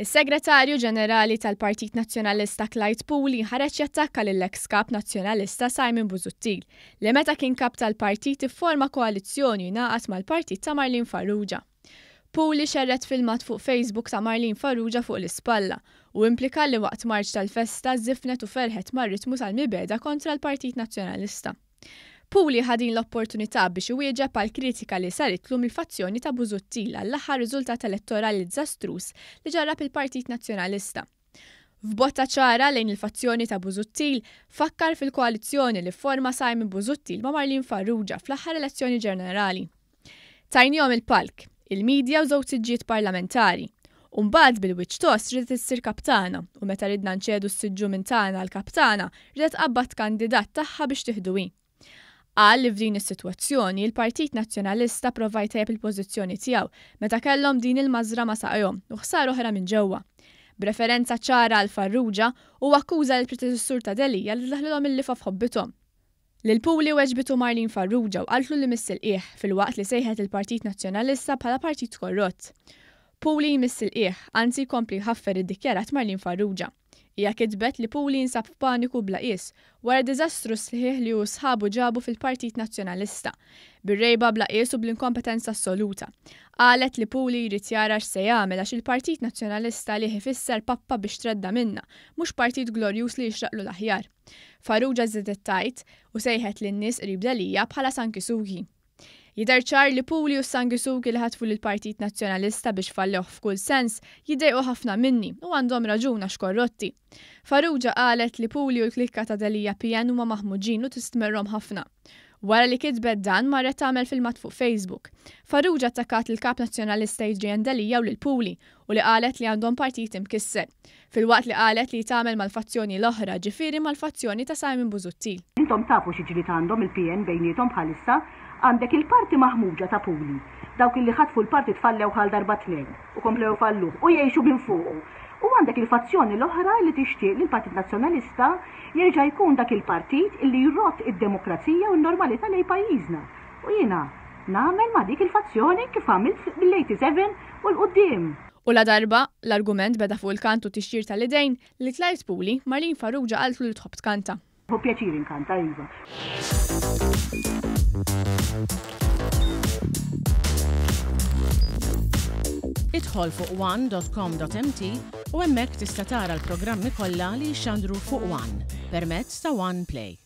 Is-Segretarju Ġenerali tal-Partit Nazzjonalista Clyde Puli ħareġ jattakka lill-eks Kap Nazzjonalista Simon Busuttil li meta kien Kap tal-partit ifforma koalizzjoni u ngħaqad mal-partit ta' Marlene Farrugia. Puli xerred filmat fuq Facebook ta' Marlene Farrugia fuq l-ispalla u implika li waqt marċ tal-festa żifnet u ferħet mar-ritmu tal-mibegħda kontra l-Partit Nazzjonalista. Puli ħa din l-opportunità biex iwieġeb għall-kritika li saritlu mill-fazzjoni ta' Busuttil għall-aħħar riżultat elettorali diżastruż li ġarrab il-Partit Nazzjonalista. F'botta ċara lejn il-fazzjoni ta' Busuttil, fakkar fil-koalizzjoni li fforma Simon Busuttil ma' Marlene Farrugia fl-aħħar elezzjoni ġenerali. Tajniehom il-palk, il-media u żewġ siġġijiet parlamentari. U mbagħad bil-wiċċ tost ridet issir kap tagħna u meta ridna nċedu s-siġġu minn tagħna għal kap tagħna, ridet tqabbad kandidat tagħha biex tieħdu hi. Qal li f'din is-sitwazzjoni, il-Partit Nazzjonalista prova jtejjeb il-pożizzjoni tiegħu meta kellhom din il-mażra ma' saqajhom u ħsara oħra minn ġewwa. B'referenza ċara għal Farrugia, huwa akkuża lill-predeċessur ta' Delia li daħlilhom il-lifgħa f'ħobbithom. Lil Puli weġbitu Marlene Farrugia u qaltlu li miss il-qiegħ, filwaqt li sejħet lill-Partit Nazzjonalista bħala partit korrott. Puli jmiss il-qiegħ, anzi jkompli jħaffer iddikjarat Marlene Farrugia. Hija kitbet li Puli jinsab f'paniku bla qies, wara d-diżastru sħiħ li hu u sħabu ġabu fil-Partit Nazzjonalista. Bir-rgħiba bla qies u bl-inkompetenza assoluta. Qalet li Puli jrid jara x'se jagħmel għax il-Partit Nazzjonalista għalih ifisser pappa biex tredda' minnha, mhux partit glorjuż li jixraqlu l-aħjar. Farrugia żiedet tgħid, u sejħet lin-nies qrib Delia bħala sangisugi. Jidher ċar li Puli u s-sangisugi li ħatfu lill-Partit Nazzjonalista biex fallewh f'kull sens, jiddejqu ħafna minni u għandhom raġun għax korrotti. Farrugia qalet li Puli u l-klikka ta' Delia PN huma maħmuġin u tistmerrhom ħafna. Wara li kitbet dan marret tagħmel filmat fuq Facebook. Farrugia attakkat lill-Kap Nazzjonalista Adrian Delia u lil Puli u li qalet li għandhom partit imkisser. Filwaqt li qalet li tagħmel mal-fazzjoni l-oħra, ġifieri mal-fazzjoni ta' Simon Busuttil. Intom tafu xi ġlied għandhom il-PN bejniethom bħalissa. Għandek il-parti maħmuġa ta' Puli, dawk illi ħatfu l-partit fallewh għal darba tnejn u komplew ifalluh u jgħixu minn fuqu. U għandek il-fazzjoni l-oħra illi tixtieq li l-Partit Nazzjonalista jerġa' jkun dak il-partit illi jrodd id-demokrazija u n-normalità lejn pajjiżna. U jiena nagħmel ma' dik il-fazzjoni kif għamilt mill-87 u 'l quddiem. U ladarba l-argument beda fuq il-kant u t-tixjir tal-idejn, lil Clyde Puli, Marlene Farrugia qaltlu li tħobb tkanta. Nieħu pjaċir inkanta, iva. Idħol fuq one.com.mt u hemmhekk tista' tara l-programmi kollha li jixxandru fuq One permezz ta' One Play.